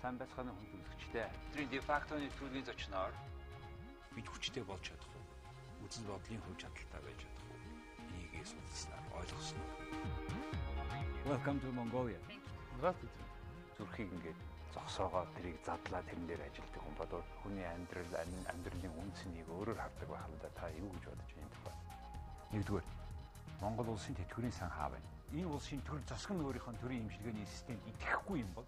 Сайн байцгааны хүн төлөвчтэй. Тэрийн дефактоны төлөвийн зочноор бид хүчтэй болж чадах уу? Үзэл бодлын хөв чадaltaй байж чадах уу? Энийг судалснаар ойлгосноо. Welcome to Mongolia. Здравствуйте. Зүрхийг ингээд зогсоогоо тэрийг задлаа тэрэн дээр ажилтдаг хүн бодвол хүний амьдралын үндснийг өөрөөр хардаг байх л да. Та юу гэж бодож байна юм бэ? Нэгдүгээр Монгол улсын тэтгэврийн сан хаа байна? Энэ улсын төр засгийн өөрийнхөө төрийн имчилгээний системд итгэхгүй юм бол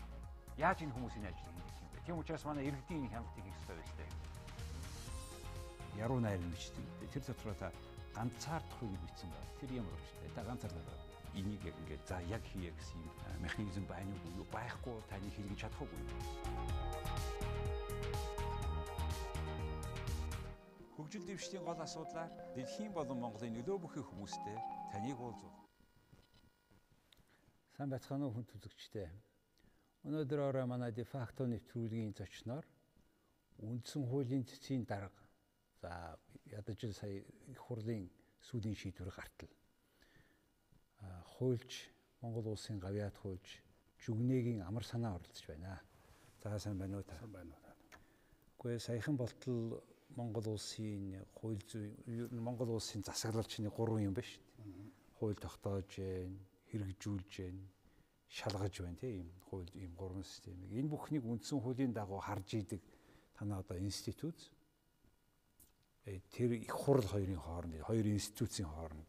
яаж энэ хүмүүсийн ажлыг хийх юм бэ? Тийм учраас манай иргэдийн хяналтыг хийх ёстой байлээ. Яруу найр бичдэг. Тэр дотроо та ганцаардахыг бичсэн байна. Тэр ямар өвчтэй. Та ганцаардаа энийг ингээд за яг хийе гэсэн юм механизм байна уу? Байхгүй таны хийлгэж чадахгүй юм. Хөгжил дэвшлийн гол асуудлаар дэлхийн болон Монголын нөлөө бүхий хүмүүстэй таныг уулзав. Сайн байцгаана уу хүн төлөвчтэй. Өнөөдөр манай дефакто нэвтрүүлгийн зочноор үндсэн хуулийн цэцгийн дарга за ядаж сая их хурлын сүүлийн шийдвэр гартал хуульч Монгол улсын гавьяат хуульч Жүгнэгийн амар санаа оролцож байна. За сайн байна уу та? Сайн байна уу. Гэхдээ саяхан болтол Монгол улсын хууль Монгол улсын засаглалчны 3 юм байна шүү дээ. Хууль тогтоож, хэрэгжүүлж, шалгаж байна тийм хууль ийм 3 системийг. Энэ бүхнийг үндсэн хуулийн дагуу харж идэг танай одоо институт тэр их хурл хоёрын хооронд хоёр институцийн хооронд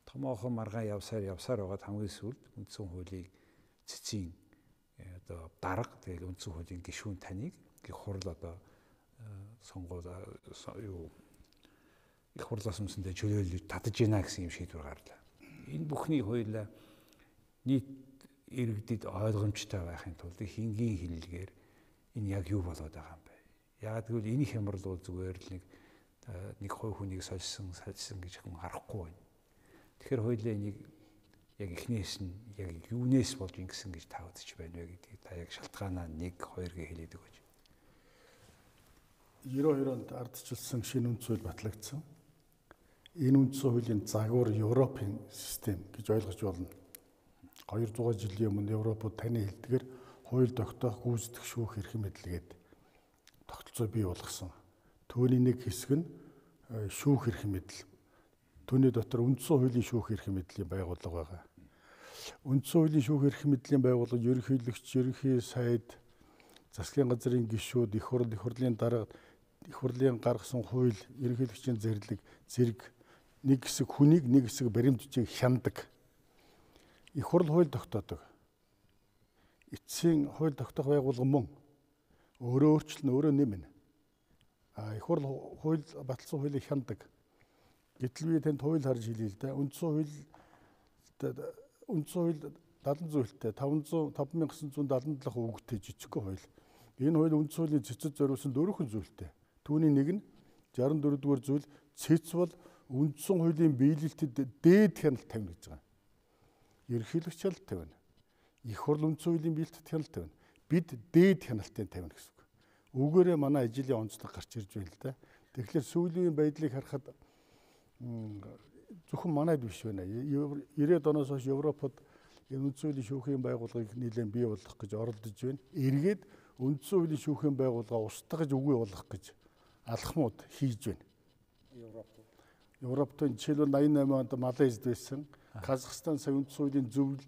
томоохон маргаан явсаар байгаад хамгийн сүүлд үндсэн хуулийн цэцгийн одоо дарга тэгэл үндсэн хуулийн гишүүн таныг их хурл одоо сонгоод юу их хурлаас өмнөсөндөө чөлөөлж татаж гинэ гэсэн юм шийдвэр гарлаа. Энэ бүхний хуулиа нийт иргэдэд ойлгомжтой байхын тулд их энгийн хэллэгээр энэ яг юу болоод байгаа юм бэ? Яг тэгвэл энэ хямрал бол зүгээр л нэг хой хүнийг сольсон гэж хүн харахгүй байна. Тэгэхээр хуулиа энийг яг эхнээс нь яг юунээс болж ингэсэн гэж та үзэж байна вэ гэдгийг та яг шалтгаанаа 1 2 гээ хэлээд өгөөч. 92 онд ардчилсан шинэ үндс хууль батлагдсан. Энэ үндс хуулийн загвар Европын систем гэж ойлгож болно. 200 жилийн өмнө Европод таны хэлдгээр хууль тогтоох, гүйцэтгэх, шүүх эрх мэдэлгээд тогтолцоо бий болгосон. Түүний нэг хэсэг нь шүүх эрх мэдэл. Түүний дотор үндсэн хуулийн шүүх эрх мэдлийн байгууллага байгаа. Үндсэн хуулийн шүүх эрх мэдлийн байгууллага ерөнхийлөгч, ерөнхий сайд, засгийн газрын гишүүд, их хурлын дарга, их хурлын гаргасан хууль, ерөнхийлөгчийн зэрэг нэг хэсэг хүнийг нэг хэсэг баримтжийг хяндаг. Их хурл хууль тогтоодог. Эцсийн хууль тогтоох байгууллага мөн өөрөө өөрчлөн өөрөө нэмнэ. Их хурл хууль баталсан хуулийг хяндаг. Гэтэл би танд хууль харж хэлье л да. Үндсэн хууль 70 зүйлтэй 5977 үгтэй жижигхэн хууль. Энэ хууль үндсэн хуулийн цэцэд зориулсан 4 зүйлтэй. Түүний нэг нь 64 дугаар зүйл цэц бол үндсэн хуулийн биелэлтэд дээд хяналт тавина гэж байгаа. Ерөнхийлөгч хяналт тавина. Их хурл үндсэн хуулийн биелэлтэд хяналт тавина. Бид дээд хяналтыг тавина гэсэн үг. Үүгээрээ манай ажлын онцлог гарч ирж байна л да. Тэгэхээр сүүлийн байдлыг харахад зөвхөн манайд биш байна. 90-ад оноос хойш Европод энэ үндсэн хуулийн шүүхийн байгууллагыг нэлээд бий болгох гэж оролдож байна. Эргээд үндсэн хуулийн шүүхийн байгууллага устгаж үгүй болгох гэж алхмууд хийж байна. Европт жишээлбэл 88 онд Малайзд байсан. Казахстан сая үндсэн хуулийн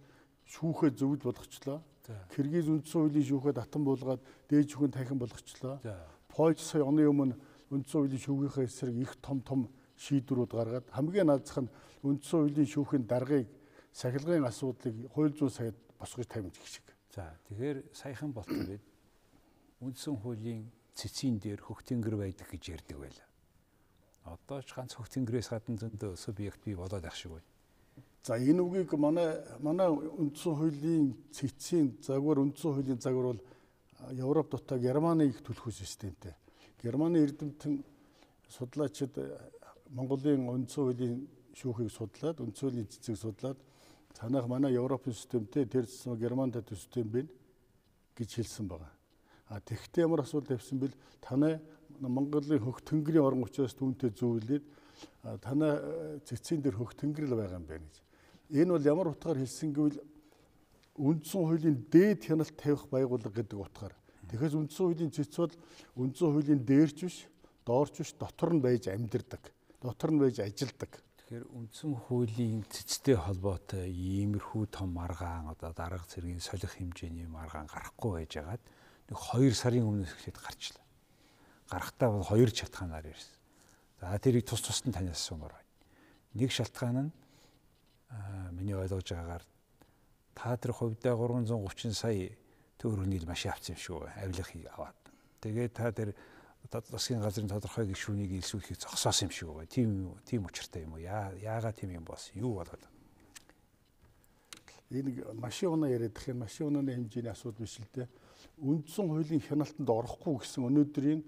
шүүхээ зөвлөл болгочлоо. Киргиз үндсэн хуулийн шүүхээ татан буулгаад дээд шүүхийн тахин болгочлоо. Польш сая оны өмнө үндсэн хуулийн шүүхийнхээ эсрэг их том шийдвэрүүд гаргаад хамгийн наазах нь үндсэн хуулийн шүүхийн даргыг сахилгын асуудлыг хууль зүйн сайд босгож тавьж гэх шиг. За тэгэхээр саяхан болтол бид үндсэн хуулийн цэцгийн дээр хөх тэнгэр байдаг гэж ярьдаг байлаа. Одоо ч ганц хөх тэнгэрээс гадна зөндөө субъект бий болоод ах шиг байна. За энэ үгийг манай үндсэн хуулийн цэцгийн загвар үндсэн хуулийн загвар бол Европ дотор Германы их төлхөө системтэй. Германы эрдэмтэн судлаачид Монголын үндсэн хуулийн шүүхийг судлаад, үндсэн хуулийн цэцгийг судлаад танах манай Европын системтэй тэр Германд систем байна гэж хэлсэн байна. Тэгэхдээ ямар асуудал тавьсан бэл танай Монголын хөх тэнгэрийн орон учраас түүнтэй зөвлөд танай цэцгийн дээр хөх тэнгэр л байгаа юм байна гэж. Энэ бол ямар утгаар хэлсэн гэвэл үндсэн хуулийн дээд хяналт тавих байгууллага гэдэг утгаар Тэгэхээр үндсэн хуулийн цэц бол үндсэн хуулийн дээрч биш, доорч биш, дотор нь байж амьдардаг. Дотор нь байж ажилдаг. Тэгэхээр үндсэн хуулийн цэцтэй холбоотой иймэрхүү том маргаан одоо дарга зэргийн солих хэмжээний маргаан гарахгүй байжгаад нэг 2 сарын өмнөөс эхлээд гарчлаа. Гарахтаа бол 2 шалтгаанаар ирсэн. За тэрийг тус тусад нь танаас асуумаар байна. Нэг шалтгаан нь миний ойлгож байгаагаар та тэр хувьдаа 330 сая төгрөгийг машин авсан юм шүү. Авилгыг аваад. Тэгээд та тэр засгийн газрын тодорхой гишүүнийг илсүүлэхийг зогсоосон юм шүү. Тийм учиртай юм уу? Яагаад тийм юм болсон? Юу болоод? Энэ машин унаа яриад их юм. Машин унааны хэмжээний асуудал биш л дээ. Үндсэн хуулийн хяналтанд орохгүй гэсэн өнөөдрийн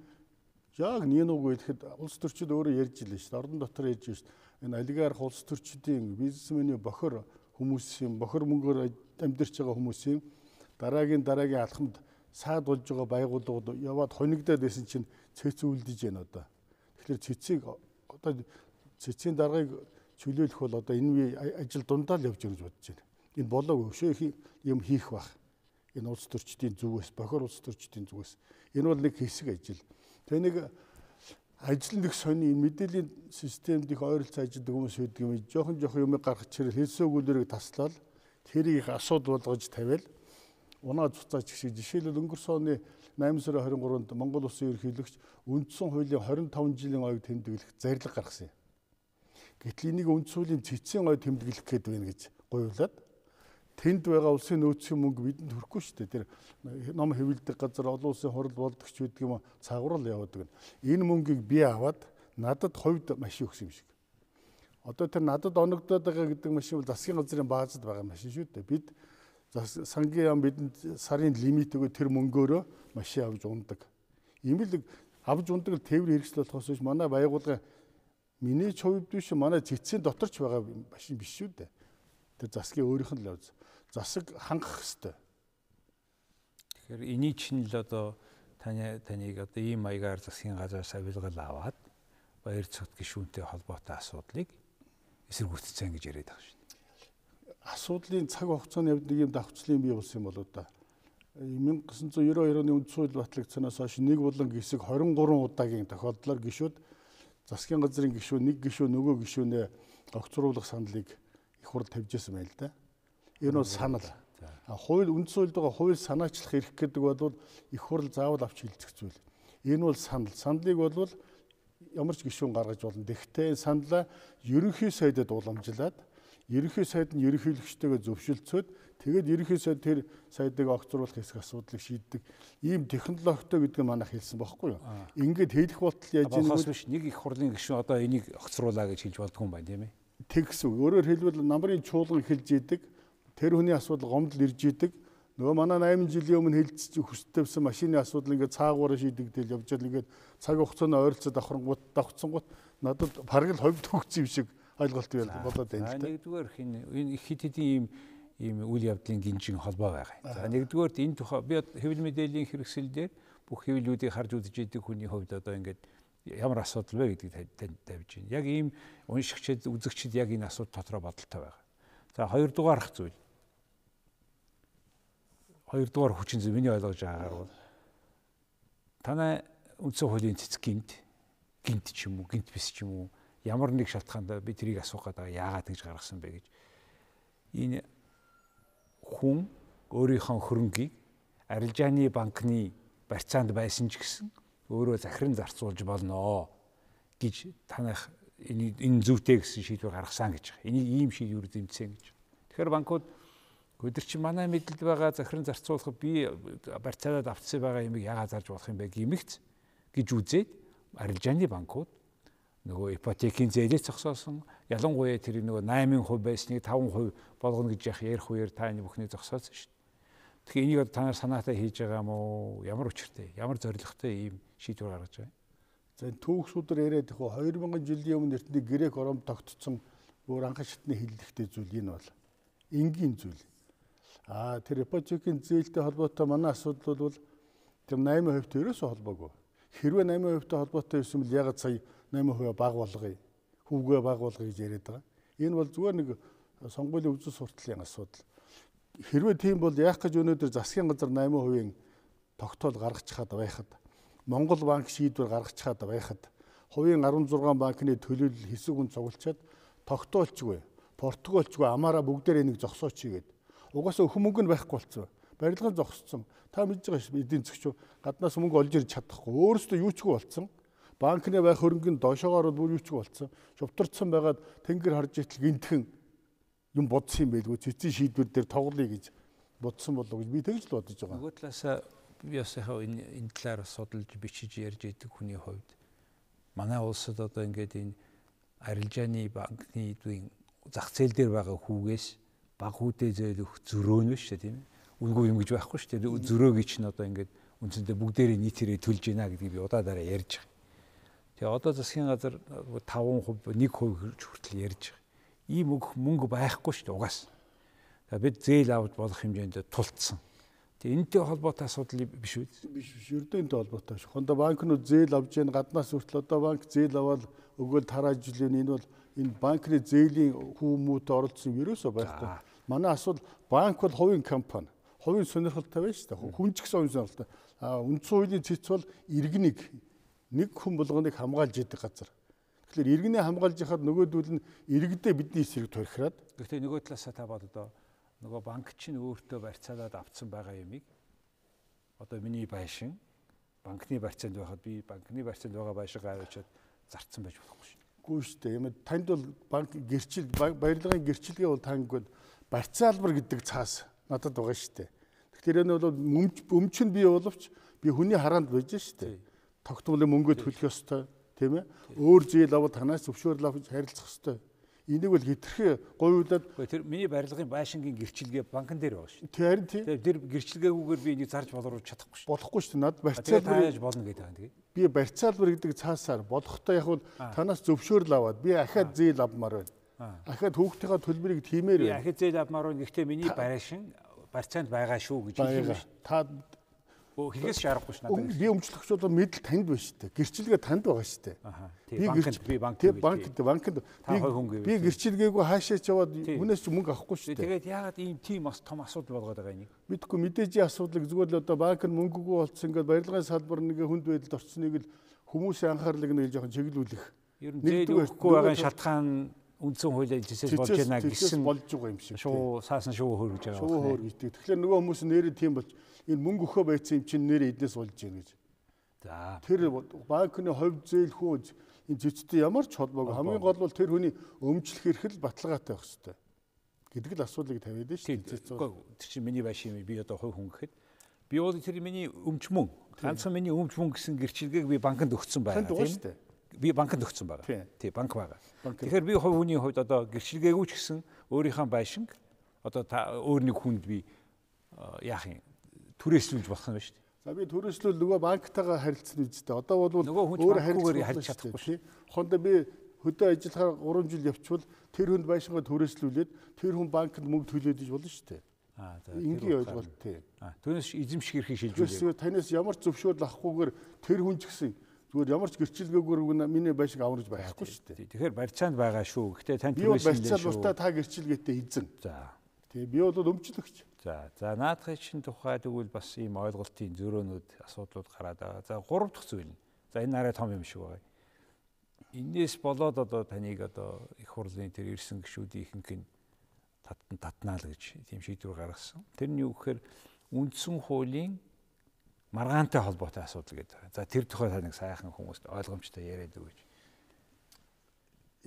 яг нинуг гэхэд улс төрчид өөрөө ярьж илээ шүү дээ. Орон дотор ярьж шүү дээ. Энэ олигарх улс төрчидийн бизнесменийн бохор хүмүүсийн бохор мөнгөөр амьдарч байгаа хүмүүсийн дараагийн алхамд саад болж байгаа байгууллагууд яваад хонигдаад байсан чинь цэц үлдэж байна одоо. Тэгэхээр цэцийн даргаыг чөлөөлөх бол одоо энэ ажил дундаа л явж байгаа гэж бодож байна. Энэ болоо өшөө юм хийх бах. Энэ улс төрчдийн зүгээс, бохор улс төрчдийн зүгээс. Энэ бол нэг хэсэг ажил. Тэгээ нэг ажил нэг сони мэдээллийн системд их ойролцоо ажилладаг хүмүүс байдаг юм. Жохон юм гаргах чирэл хэлсэн өгүүлбэрийг таслал тэрийг их асуудал болгож тавиал унаа цуцаач шиг жишээлбэл өнгөрсөн оны 8 сарын 23-нд Монгол Улсын ерөнхийлөгч үндсэн хуулийн 25 жилийн ойг тэмдэглэх зарлиг гаргасан юм. Гэтэл энийг үндсэн хуулийн цэцгийн ойг тэмдэглэх гээд байна гэж гуйлаад тэнд байгаа улсын нөөцийн мөнгө бидэнд хүрэхгүй шүү дээ. Тэр ном хэвлэдэг газар олон улсын хурал болдогч гэдэг юм цагуурал явуудаг. Энэ мөнгийг би аваад надад хувьд машин өгсөн юм шиг. Одоо тэр надад оногдоод байгаа гэдэг машин бол засгийн газрын баазад байгаа машин шүү дээ. Бид сангийн яам бидэнд сарын лимит өгөө тэр мөнгөөрөө машин авч ундаг. Имэл авч ундаг л тээвэр хэрэгсэл болохоос биш манай байгууллага миний хувьд биш манай цэцгийн доторч байгаа машин биш шүү дээ. Тэр засгийн өөрийнх нь л явз. Засаг хангах хэвээр. Тэгэхээр эний чинь л одоо таныг одоо ийм маягаар засгийн газраас авилгал аваад баяр цогт гишүүнтэй холбоотой асуудлыг эсэргүүцсэн гэж яриад байгаа шин. Асуудлын цаг хугацааны явд нэг юм давхцлын бий болсон юм болоо да. 1992 оны үндсэн хууль батлагдсанаас хойш нэг болон гисэг 23 удаагийн тохиолдлоор гишүүд засгийн газрын гишүүн нэг гишүүн нөгөө гишүүнээ огцруулах саналыг их хурл тавьж байсан байл да. Энэ бол санал. Хууль үндсэн хуульд байгаа хууль санаачлах эрх гэдэг бол их хурл заавал авч хилцэх зүйл. Энэ бол санал. Саналыг бол ямар ч гишүүн гаргаж болно. Тэгэхдээ саналаа ерөнхий сайдад уламжлаад ерөнхий сайд нь ерөнхийлөгчтэйгээ зөвшөлдсөд тэгээд ерөнхий сайд тэр сайдыг огцруулах хэсэг асуудлыг шийддэг. Ийм технологитой гэдэг нь манайх хэлсэн байхгүй юу? Ингээд хэлэх болтол яаж нэг их хурлын гишүүн одоо энийг огцруулаа гэж хэлж болдгүй юм байна тийм ээ. Тэгс үг. Өөрөөр хэлбэл намрын чуулган эхэлж идэг. Тэр хүний асуудал гомдол ирж идэг. Нөгөө манай 8 жилийн өмнө хэлцэж хүстэвсэн машины асуудал ингээд цаагаараа шийдэгдэл явж байгаа. Ингээд цаг хугацааны ойролцоо давхцсангууд надад бараг л ховд төгсөн юм шиг ойлголт болоод байна л да. Нэгдүгээр энэ их хэд хэдийн ийм үйл явдлын гинжин холбоо байгаа. За нэгдүгээр энэ тухай би хэвлэл мэдээллийн хэрэгсэл дээр бүх хэвлэлүүдийг харж үзэж идэг хүний хувьд одоо ингээд ямар асуудал вэ гэдгийг тавьж байна. Яг ийм уншигчид, үзэгчид яг энэ асуудал дотроо бодолтой байгаа. За хоёрдугаарх зүйл. Хоёрдугаар хүчин зүйл миний ойлгож байгаагаар бол танай үндсэн хуулийн цэцэг гинт ч юм уу, гинт бис ч юм уу ямар нэг шалтгаанд би тэрийг асуух гэдэг яагаад гэж гаргасан бэ гэж. Энэ хүн өөрийнхөө хөрөнгийг арилжааны банкны барьцаанд байсан ч гэсэн өөрөө захиран зарцуулж болно гэж танах энэ зүйтэй гэсэн шийдвэр гаргасан гэж байгаа. Энийг ийм шийдвэр зэмцсэн гэж. Тэгэхээр банкуд өдөр чи манай мэдэлд байгаа захиран зарцуулах би барьцаадад автсан байгаа юмыг яагаад зарж болох юм бэ гэмэгц гэж үзээд арилжааны банкуд нөгөө ипотекийн зээлээ зогсоосон ялангуяа тэр нөгөө 8% байсныг 5% болгоно гэж ярих үеэр та энэ бүхнийг зогсоосон шүү дээ. Тэгэхээр энийг та нар санаатай хийж байгаа юм уу? Ямар учиртай, ямар зорилготой ийм шийдвэр гаргаж байна? За түүхсүүдээр яриад их 2000 жилийн өмнө эртний грек Ром тогтцсон бүр анхан шатны хиллэгтэй зүйл энэ бол энгийн зүйл. Тэр ипотекийн зээлтэй холбоотой манай асуудал бол тэр 8% төрөөсөө холбоогүй. Хэрвээ 8%-тэй холбоотой байсан бол ягаад сая 8% баг болгоё, хүүгээ баг болгоё гэж яриад байгаа. Энэ бол зүгээр нэг сонгуулийн үзэл сурталчилгын асуудал. Хэрвээ тийм бол яах гэж өнөөдөр засгийн газар 8%-ийн тогтоол гаргаж чад байхад, Монгол банк шийдвэр гаргаж чад байхад, хувийн 16 банкны төлөөлөл хэсэг хүн цуглчаад тогтоолчгүй, Португалчгүй амаараа бүгдээр энийг зогсооч хийгээд. Угаасаа өх мөнгө нь байхгүй болцсон. Барилгын зогссон. Та мэдж байгаа шүү эдийн засгч гаднаас мөнгө олж ирж чадахгүй. Өөрөөсөө юучгүй болцсон. Банкны байх хөрөнгөнд доошоогоор бүр юучгүй болцсон. Шувтарцсан байгаад тэнгэр харж итэл гинтхэн юм бодсон юм байлгүй. Цэцэн шийдвэр дээр тоглоё гэж бодсон болов уу гэж би тэгж л бодож байгаа. Нөгөө талаасаа би бас яг энэ талаар судалж бичиж ярьж идэг хүний хувьд манай улсад одоо ингээд энэ арилжааны банкны зах зээл дээр байгаа хүүгээс баг хүүдээ зөөлөх зөрөө нь шүү дээ тийм ээ. Үнгүй юм гэж байхгүй шүү дээ. Зөрөөг чинь одоо ингээд үндсэндээ бүгдээрээ нийтээрээ төлж гинэ гэдгийг би удаадараа ярьж байгаа. Тэгээ одоо засгийн газар 5%, 1% хүртэл ярьж байгаа. Ийм мөнгө байхгүй шүү дээ угаас. За бид зээл авч болох хэмжээнд тулцсан. Тэгээ энэтэй холбоотой асуудал биш үү? Биш. Ердөнтэй холбоотой шүү. Хондоо банкнууд зээл авж яах гаднаас хүртэл одоо банк зээл аваад өгөөл тарааж жилийн энэ бол энэ банкны зээлийн хүмүүст оролцсон ерөөсөө байхгүй. Манай асуудал банк бол хувийн компани. Хувийн сонирхолтой байна шүү дээ. Хүн ч гэсэн хувийн сонирхолтой. Үндсэн хуулийн цэц бол иргэнийг нэг хүн болгоныг хамгаалж яадаг газар. Тэгэхээр иргэнээ хамгаалж яхад нөгөөдөл нь иргэдээ бидний эсрэг торхираад. Гэхдээ нөгөө талаасаа та бод одоо нөгөө банк чинь өөртөө барьцаалаад авцсан байгаа юмыг одоо миний байшин банкны барьцаанд байхад би банкны барьцаанд байгаа байшингаа аваачаад зарцсан байж болохгүй шүү. Үгүй шүү дээ. Юм танд бол банк гэрчил барилгын гэрчилгээ бол танд барьцаалбар гэдэг цаас надад байгаа шүү дээ. Тэгэхээр энэ бол өмч нь бий боловч би хүний хараанд байж шүү дээ. Тогтмолын мөнгө төлөх ёстой тийм ээ. Өөр зээл аваад танаас зөвшөөрөл авч харилцах ёстой. Энийг бол хитрхи говьулаад тэр миний барилгын байшингийн гэрчилгээ банкн дээр байгаа шүү. Тэр тийм. Тэр гэрчилгээгүйгээр би энийг зарж боловч чадахгүй шүү. Болохгүй шүү. Над барьцаалбар тааж болно гэдэг юм тэгээ. Би барьцаалбар гэдэг цаасаар болохтой яг бол танаас зөвшөөрөл аваад би ахаад зээл авмаар байна. Ахаад хүүхдийнхээ төлбөрийг тиймээр байна. Ахаад зээл авмаар байна. Гэхдээ миний байшин барьцаанд байгаа шүү гэж хэлсэн шүү. Та хэлгээс шаарахгүй ш надад. Би өмчлөгч бол мэдл танд байна шүү дээ. Гэрчилгээ танд байгаа шүү дээ. Би банкнд би гэрчилгээгүй хаашаач яваад хүнээс ч мөнгө авахгүй шүү дээ. Тэгээд яагаад ийм тийм бас том асуудал болгоод байгаа юм? Мэдгүй мэдээжийн асуудлыг зүгээр л одоо банк нь мөнгөгүй болцсон ингээд барилгын салбар нэг хүнд байдалд орцсныг л хүмүүсийн анхаарлыг нэг жоохон чиглүүлэх. Ер нь зээл өгөхгүй байгаа шалтгаан үндсэн хуулийн зэсээс болж байна гэсэн болж байгаа юм шиг. Шуу saасан шуу хөргөж байгаа. Шуу хөргөжтэй. Тэгэхээр нөгөө хүмүүс нэрээ тийм болж энэ мөнгө өгөхөө байцсан юм чинь нэрээ эднээс болж байна гэж. За. Тэр банкны хувь зээл хөөж энэ зэцтэй ямар ч холбоогүй. Хамгийн гол бол тэр хүний өмчлөх эрхэл баталгаатай байх хэрэгтэй гэдэг л асуудлыг тавиад байна шүү дээ. Тэр чинь миний байшин юм. Би одоо хувь хүн гэхэд би бол тэр миний өмч мөн. Ганцхан миний өмч мөн гэсэн гэрчилгээг би банкнд өгсөн байна тийм. Би банкнд өгсөн байгаа. Тий, банк байгаа. Тэгэхээр би хувь хүний хувьд одоо гэрчилгээгүй ч гэсэн өөрийнхөө байшинг одоо та өөр нэг хүнд би яах юм түрээслүүлж болох юм байна шүү дээ. За би түрээслүүл нөгөө банктайгаа харилцсан үстэй. Одоо бол өөр харилцаж чадахгүй шүү. Хондоо би хөдөө ажиллахаар 3 жил явчихвал тэр хүнд байшингаа түрээслүүлээд тэр хүн банкнд мөнгө төлөөд иж болно шүү дээ. За энгийн ойлголт тий. Түүнээс эзэмших эрхийг шилжүүлээ. Танаас ямар ч зөвшөөрөл авахгүйгээр тэр хүн ч гэсэн зүгээр ямар ч гэрчилгээгээр миний байшинг авраж байхгүй шүү дээ. Тэгэхээр барьцаанд байгаа шүү. Гэхдээ тань түрээслүүлээ шүү. Би барьцаал та гэрчилгээтэй эзэн. За. Тий би бол өмчлөгч. За наадхын чинь тухай тэгвэл бас ийм ойлголтын зөрөөнүүд асуудлууд гараад байгаа. За 3 дахь зүйл. За энэ арай том юм шиг байгаа. Инээс болоод одоо таныг одоо их хурлын тэр ирсэн гишүүдийн ихэнх нь татнаа л гэж тийм шийдвэр гаргасан. Тэр нь юу гэхээр үндсэн хуулийн маргаантай холбоотой асуудал гэдэг. За тэр тухай таныг сайхан хүмүүст ойлгомжтой яриад өгөөч.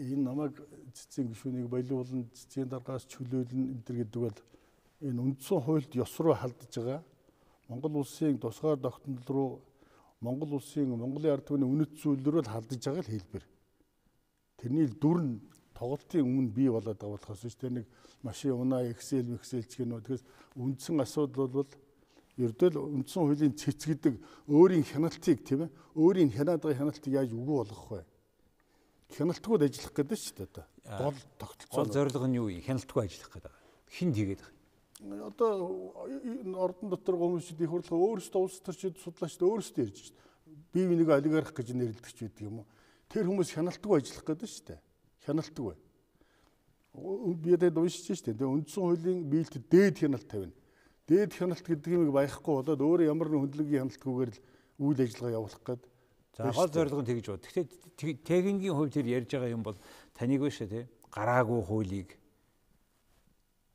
Энэ намайг цэцэн гишүүнийг болиулна, цэцгийн даргаас чөлөөлнө энэ гэдэг бол энэ үндсэн хуульд ёс руу халдж байгаа Монгол улсын тусгаар тогтнол руу Монгол улсын Монголын ард түмний үнэт зүйл рүү халдж байгаа л хэлбэр. Тэрний дүр нь тоглолтын өмнө бий болоод байгаа болохоос ч тэр нэг машин унаа Excel ч гэнэ. Тэгэхээр үндсэн асуудал бол ердөө үндсэн хуулийн цэц гэдэг өөрийн хяналтыг тийм ээ өөрийн хянаад байгаа хяналтыг яаж үгүй болгох вэ? Хяналтгүйд ажиллах гэдэг шүү дээ одоо. Гол тогтолцоо. Гол зорилго нь юу вэ? Хяналтгүй ажиллах гэдэг. Хинд хийгээд байгаа. Одоо ордон дотор хүмүүсүүд их хурлаа өөрсдөө улс төрчид судлаачид өөрсдөө ярьж шүү дээ. Бие бинийг олигарх гэж нэрлэдэг ч байдаг юм уу? Тэр хүмүүс хяналтгүй ажиллах гэдэг шүү дээ. Хяналтгүй. Би дэд уншиж шүү дээ. Үндсэн хуулийн биелэлд дээд хяналт тавина. дээд хяналт гэдэг юмыг баяхгүй болоод өөрөө ямар нэгэн хөндлөнгийн хяналтгүйгээр л үйл ажиллагаа явуулах гээд. За гол зорилго нь тэгж бод. Гэхдээ техникийн хувьд тэр ярьж байгаа юм бол таныг биш тий. Гараагүй хуулийг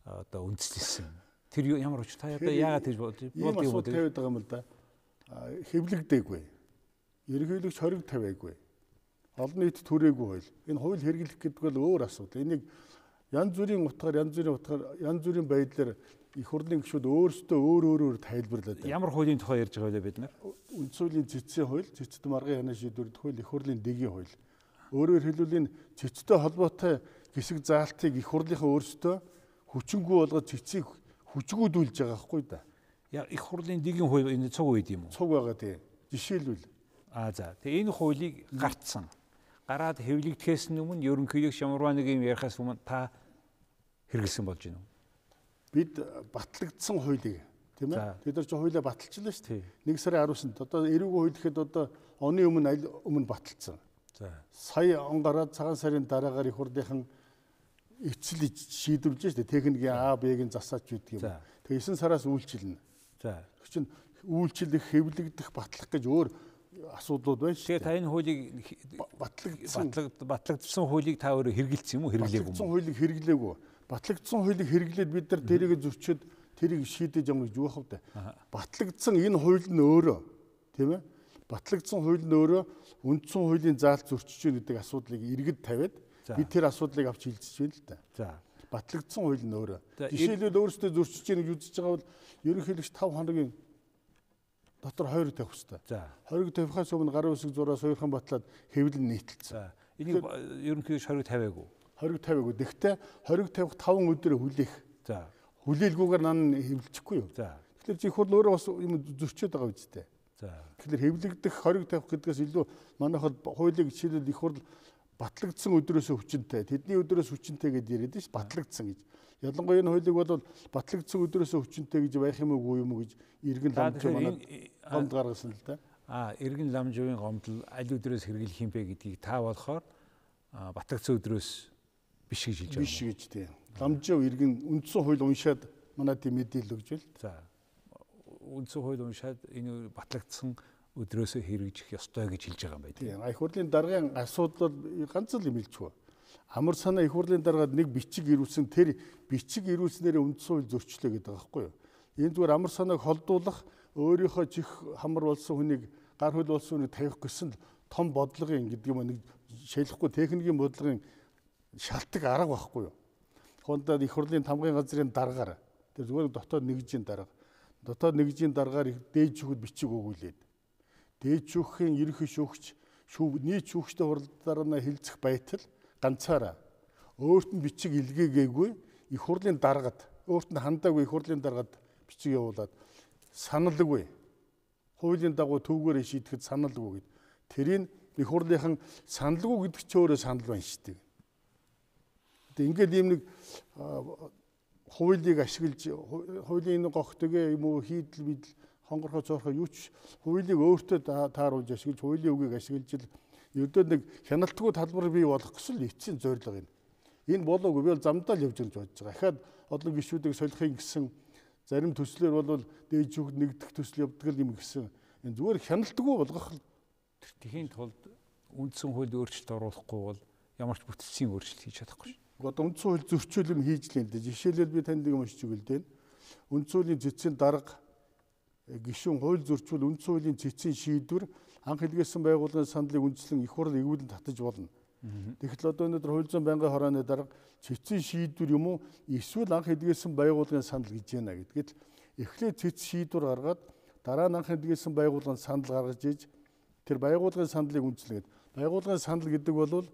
одоо үндэслэсэн. Тэр ямар ч та одоо яагаад тэгж бодож юм тавиад байгаа юм л да. Хэвлэгдээгүй. Ерөнхийлөгч хориг тавиагүй. Олон нийт түрээгүй хууль. Энэ хууль хэрэглэх гэдэг бол өөр асуудал. Энийг янз бүрийн утгаар, янз бүрийн байдлаар их хурлын гишүүд өөрсдөө өөр тайлбарлаад байна. Ямар хуулийн тухай ярьж байгаа вэ бид нар? Үндс хуулийн цэцэн хууль, цэцэд маргын ханаа шийдвэрт хууль, их хурлын дэгийн хууль. Өөрөөр хэлбэл энэ цэцтэй холбоотой хэсэг заалтыг их хурлынхаа өөрсдөө хүчингүй болгоод цэцийг хүчгүүдүүлж байгаа байхгүй да. Их хурлын дэгийн хууль энэ цуг үед юм уу? Цуг байгаа тийм. Жишээлбэл. За. Тэгээ энэ хуулийг гартсан. Гараад хэвлэгдэхээс өмнө ерөнхийлөгч ямарваа нэг юм ярихаас өмнө та хэрэгэлсэн болж байна уу? Бид батлагдсан хуулийг тийм ээ. Бид нар ч хуулиа баталчихлаа шүү дээ. 1 сарын 19-нд одоо эрүүгийн хууль гэхэд одоо оны өмнө баталсан. За. Сая он гараад цагаан сарын дараагаар их хурлынхан эцэл шийдвэрлэж шүү дээ. Техникийн А, Б-гийн засаач гэдэг юм. Тэгээ 9 сараас үйлчилнэ. За. Тэр чинь үйлчлэх, хэвлэгдэх, батлах гэж өөр асуудлууд байна шүү дээ. Тэгээ та энэ хуулийг батлагдсан хуулийг та өөрөө хэрэгэлсэн юм уу? Хэрэглээгүй юм уу? Батлагдсан хуулийг хэрэглээгүй. Батлагдсан хуулийг хэрэглээд бид нар тэрийг зөрчиж тэрийг шийдэж явна гэж юу хав та. Батлагдсан энэ хууль нь өөрөө тийм ээ. Батлагдсан хууль нь өөрөө үндсэн хуулийн заалт зөрчиж байна гэдэг асуудлыг иргэд тавиад бид тэр асуудлыг авч хилцэж байна л да. За. Батлагдсан хууль нь өөрөө. Жишээлбэл өөрөөсөө зөрчиж байна гэж үзэж байгаа бол ерөнхийлөгч 5 хоногийн дотор хориг тавих хэрэгтэй. За. Хориг тавихаас өмнө гарын үсэг зураа сойрхон батлаад хэвлэн нийтэлсэн. За. Энийг ерөнхийлөгч хориг тавиагүй. Хориг тавиагүй. Гэхдээ хориг тавих 5 өдөр хүлээх. За. Хүлээлгүйгээр нан хэвлэчихгүй юу? За. Тэгэхээр чи хурд өөрөө бас юм зөрчөөд байгаа үстэй. За. Тэгэхээр хэвлэгдэх хориг тавих гэдгээс илүү манайхад хуулийг жишээлбэл их хурд батлагдсан өдрөөсөө хүчинтэй, тэдний өдрөөс хүчинтэй гэдээ яриад ш батлагдсан гэж. Ялангуяа энэ хуулийг бол батлагдсан өдрөөсөө хүчинтэй гэж байх юм уу юм уу гэж иргэн ламжуу манад гомд гаргасан л да. Иргэн ламжуугийн гомдол аль өдрөөс хэрэглэх юм бэ гэдгийг та болохоор батлагдсан өдрөөс биш гэж хэлж байгаа. Биш гэж тийм. Ламжуу иргэн үндсэн хууль уншаад манад тийм мэдээлэл өгч байл. За. Үндсэн хууль уншаад энэ батлагдсан өдрөөсөө хэрэгжих ёстой гэж хэлж байгаа юм байна. Тийм. Их хурлын даргын асуудал ганц л юм хэлчихв. Амар санаа их хурлын даргаад нэг бичиг ирүүлсэн тэр бичиг ирүүлснээр үндсэн хууль зөрчлөө гэдэг байгаа байхгүй юу? Энэ зүгээр амар санааг холдуулах өөрийнхөө чих хамар болсон хүнийг гар хөл болсон хүнийг тавих гэсэн том бодлогын гэдэг юм нэг шалахгүй техникийн бодлогын шалтгаан арга байхгүй юу? Хондод их хурлын тамгын газрын даргаар тэр зүгээр дотоод нэгжийн дарга. Дотоод нэгжийн даргаар дээд шүүхэд бичиг өгүүлээд дээд шүүхийн ерөнхий шүүгч нийт шүүгчтэй хурлаараа хилцэх байтал ганцаараа өөрт нь бичиг илгээгээгүй их хурлын даргад өөрт нь хандаагүй их хурлын даргад бичиг явуулаад саналгүй хуулийн дагуу төвгөөрөө шийдэхэд саналгүй гэд тэрийг их хурлынхан саналгүй гэдэг ч өөрөө санал байна шүү дээ. Тэгээ ингээд ийм нэг хуулийг ашиглаж хуулийн энэ гогтөгээ юм уу хийдэл бидэл хонгорхоо цоорхоо юу ч хуулийг өөртөө тааруулж ашиглаж хуулийн үгийг ашиглаж л ердөө нэг хяналтгүй талбар бий болох гэсэн эцсийн зорилго юм. Энэ болоогүй би бол замдаа л явж гэж бодож байгаа. Ахаад олон гишүүдийг солихын гэсэн зарим төслөөр бол дээд шүүхд нэгдэх төсөл явдаг юм гэсэн. Энэ зүгээр хяналтгүй болгох л тхийн тулд үндсэн хууль өөрчлөлт оруулахгүй бол ямар ч бүтцийн өөрчлөлт хийж чадахгүй шүү. Одоо үндсэн хууль зөрчил юм хийж л энэ. Жишээлбэл би танд нэг юм уншиж өгөл дээ. Үндсэн хуулийн цэцэн дарга гишүүн хууль зөрчил үндсэн хуулийн цэцэн шийдвэр анх хэлгээсэн байгууллагын сандлыг үндэслэн их хурл эргүүлэн татаж болно. Тэгэхдээ одоо өнөөдөр хууль зүйн байнгын хорооны дарга цэцэн шийдвэр юм уу эсвэл анх хэлгээсэн байгууллагын санал гэж байна гэдгээд эхлээд цэц шийдвэр гаргаад дараа нь анх хэлгээсэн байгууллагын санал гаргаж иж тэр байгууллагын сандлыг үндэслэгээд байгууллагын санал гэдэг бол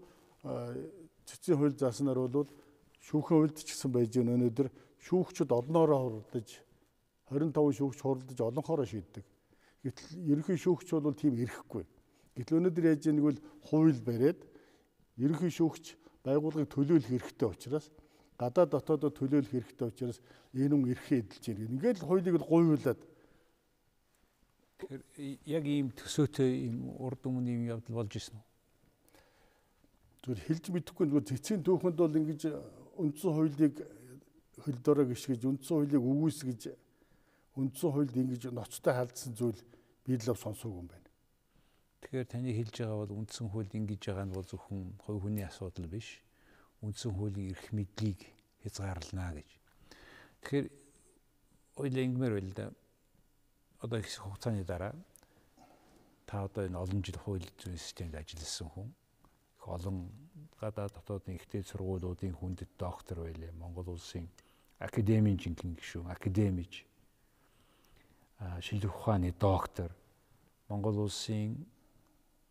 цэцэн хууль зааснаар бол шүүхэн хуульд ч гэсэн байж гэн өнөөдөр шүүгчд олноороо хурдаж 25 шүүгч хурдаж олонхороо шийддэг. Гэтэл ерөнхий шүүгч бол тийм ирэхгүй. Гэтэл өнөөдөр яаж нэг бол хууль бариад ерөнхий шүүгч байгууллагыг төлөөлөх хэрэгтэй учраас гадаад дотоодоо төлөөлөх хэрэгтэй учраас энэ юм эрхээ эдэлж байна. Ингээд л хуулийг л гуйвуулаад яг ийм төсөөтэй ийм урд өмнө ийм явдал болж ирсэн үү? Зүгээр хэлж мэдэхгүй зүгээр цэцгийн түүхэнд бол ингэж үндсэн хуулийг хөлдөөрөө гიშгэж үндсэн хуулийг үгүйсгэж үндсэн хуульд ингэж ноцтой халдсан зүйл би л сонсоогүй юм байна. Тэгэхээр таны хэлж байгаа бол үндсэн хуульд ингэж байгаа нь бол зөвхөн хувь хүний асуудал биш. Үндсэн хуулийн эрх мэдлийг хязгаарлана гэж. Тэгэхээр ойлаа ингэмээр байл да. Одоо их хугацааны дараа та одоо энэ олон жил хууль зүйн системд ажилласан хүн. Их олон гадаад дотоодын ихтэй сургуулиудын хүндэт доктор байлаа. Монгол улсын академийн жинхэнэ гишүүн, академич, шилжих ухааны доктор, Монгол улсын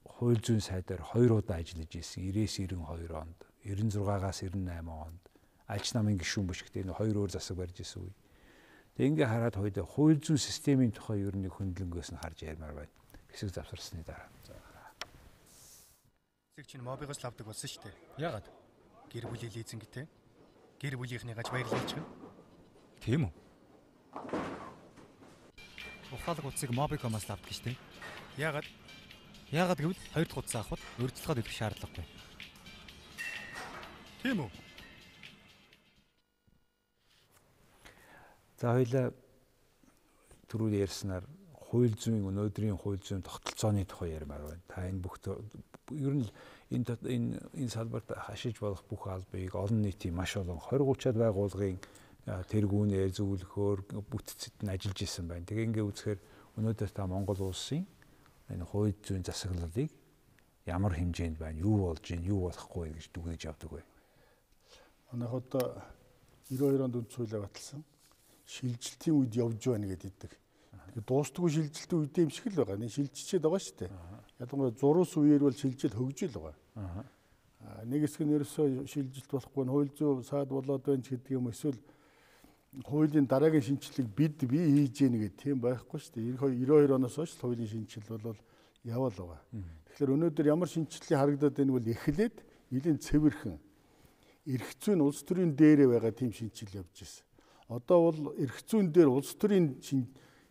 хууль зүйн сайдаар 2 удаа ажиллаж исэн 90-92 онд, 96-аас 98 онд альч намын гишүүн биш гэдэг энэ 2 өөр засаг барьж исэн үе. Тэгээ ингээ хараад хууль зүйн системийн тухай ер нь хөндлөнгөөс нь харж ярмаар байна. Хэсэг завсарсны дараа. Эцэг чинь мобигоос л авдаг болсон шүү дээ. Яагаад? Гэр бүлийн лизингтэй. Гэр бүлийнхнийгаач баярлуулж гэн. Тийм үү? Ухаалаг утсыг Mobicom-аас авдаг шүү дээ. Яагаад? Яагаад гэвэл 2 дахь утас авахд урьдчилгаад өгөх шаардлагагүй. Тийм үү? За хоёлаа түрүү ярьснаар хууль зүйн өнөөдрийн хууль зүйн тогтолцооны тухай ярмаар байна. Та энэ бүх ер нь энэ салбарт хашиж болох бүх албыг олон нийтийн маш олон 20-30-аад байгууллагын тэргүүнээр зөвлөхөөр бүтцэд нь ажиллаж исэн байна. Тэгээ ингээ үзэхээр өнөөдөр та Монгол улсын энэ хууль зүйн засаглалыг ямар хэмжээнд байна, юу болж байна, юу болохгүй гэж дүгнэж явдаг вэ? Манайх одоо 92 онд үндсэн хуулиа баталсан. Шилжилтийн үед явж байна гэдэг. Тэгээд дуустдаггүй шилжилтийн үед юм шиг л байгаа. Нэг шилжчихээд байгаа шүү дээ. Ялангуяа зурус үеэр бол шилжил хөгжил байгаа. Нэг хэсэг нь ерөөсөө шилжилт болохгүй хууль зүйн саад болоод байна ч гэдэг юм эсвэл хуулийн дараагийн шинжилгээг бие хийж гэнэ гэдэг тийм байхгүй шүү дээ. 92 оноос хойш хуулийн шинжил бол яваал байгаа. Тэгэхээр өнөөдөр ямар шинжилгээ харагдаад байгааг бол эхлээд нэлийн цэвэрхэн эрх зүйн улс төрийн дээрээ байгаа тийм шинжил явж байна. Одоо бол эрх зүйн дээр улс төрийн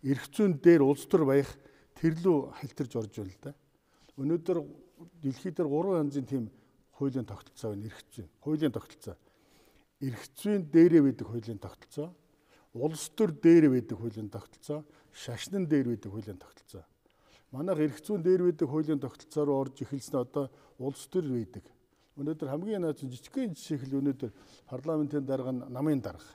эрх зүйн дээр улс төр баях тэрлүү халтарж орж байна л да. Өнөөдөр дэлхийд дээр 3 янзын тийм хуулийн тогтолцоо байна. Эрх зүйн хуулийн тогтолцоо. Эрх зүйн дээрээ байдаг хуулийн тогтолцоо, улс төр дээрээ байдаг хуулийн тогтолцоо, шашнан дээр байдаг хуулийн тогтолцоо. Манайх эрх зүйн дээр байдаг хуулийн тогтолцоо руу орж эхэлсэн одоо улс төр байдаг. Өнөөдөр хамгийн наад жижигхэн жишээ хэл өнөөдөр парламентын дарга намын дарга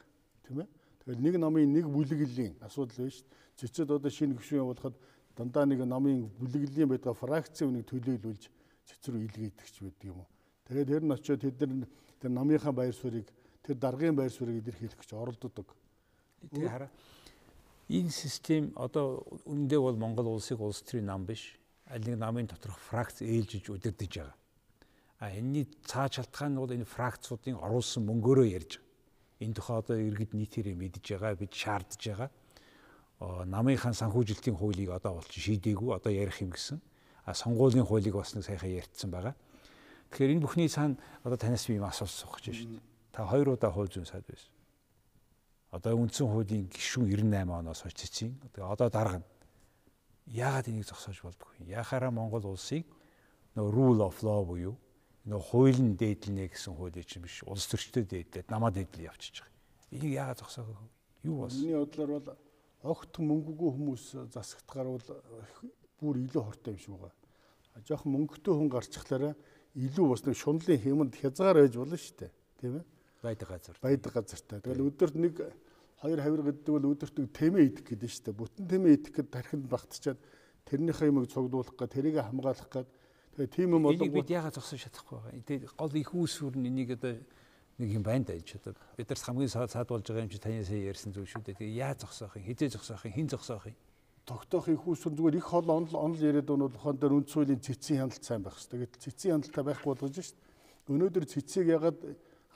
тийм ээ. Тэгэхээр нэг намын нэг бүлэглэлийн асуудал байна шүү дээ. Цэцэд одоо шинэ гишүүн явуулахад дандаа нэг намын бүлэглэлийн байдаг фракцийн үнийг төлөөлүүлж цэцэр рүү илгээдэг ч байдаг юм уу. Тэгээд тэр нь очиод тэр намынхаа байр суурийг тэр даргын байр суурийг илэрхийлэх гэж оролддог. Тэгээ хараа. Энэ систем одоо үндэ бол Монгол улсыг улс төрийн нам биш. Аль нэг намын доторх фракц ээлжиж удирдах байгаа. Энэний цааш шалтгаан нь бол энэ фракцуудын оруулсан мөнгөөрөө ярьж байгаа. Энэ тухай одоо иргэд нийтээрээ мэдж байгаа, бид шаардж байгаа. Намынхаа санхүүжилтийн хуулийг одоо болчих шийдээгүй, одоо ярих юм гэсэн. Сонгуулийн хуулийг бас нэг сайхан ярьцсан байгаа. Тэгэхээр энэ бүхний цаана одоо танаас би юм асуулт суух гэж байна шүү дээ. Та 2 удаа хууль зүйн сайд байсан. Одоо үндсэн хуулийн гишүүн 98 оноос хойш цэцгийн. Одоо дарга нь яагаад энийг зогсоож болдгоо юм? Яхаараа Монгол улсыг нөгөө rule of law буюу нөгөө хуулийн дээдлэнэ гэсэн хуулийн чинь биш, улс төрчтэй дээдлээд намаа дээдлээ явчихж байгаа. Энийг яагаад зогсоогоо? Юу болсон? Миний бодлоор бол огт мөнгөгүй хүмүүс засагдахаар бол бүр илүү хортой юм шиг байгаа. Жохон мөнгөтэй хүн гарчихлаараа илүү бас нэг шунлын хэмэнд хязгаар байж болно шүү дээ. Тийм ээ? Байдаг газар. Байдаг газартай. Тэгэл өдөрт нэг 2 хавир гэдэг бол өдөрт нэг тэмээ идэх гэдэг шүү дээ. Бүтэн тэмээ идэх гэдэг тархинд багтчаад тэрнийхээ юмыг цуглуулах гэ, тэрийг хамгаалах гэ. Тэгээ тийм юм болов. Энийг бид яагаад зогсож чадахгүй байгаа? Тэгээ гол их үүсвэр нь энийг одоо нэг юм байна даа ч одоо бид нар хамгийн саад болж байгаа юм чи таны сая ярьсан зүйл шүү дээ. Тэгээ яаж зогсоох юм? Хизээ зогсоох юм? Хин зогсоох юм? Тогтоох их үүсвэр зүгээр их хол онол яриад өнөө ухаан дээр үндс хуулийн цэцгийн хяналт сайн байх хэрэгтэй. Гэтэл цэцгийн хяналтаа байхгүй болгож шít. Өнөөдөр цэцгийг ягаад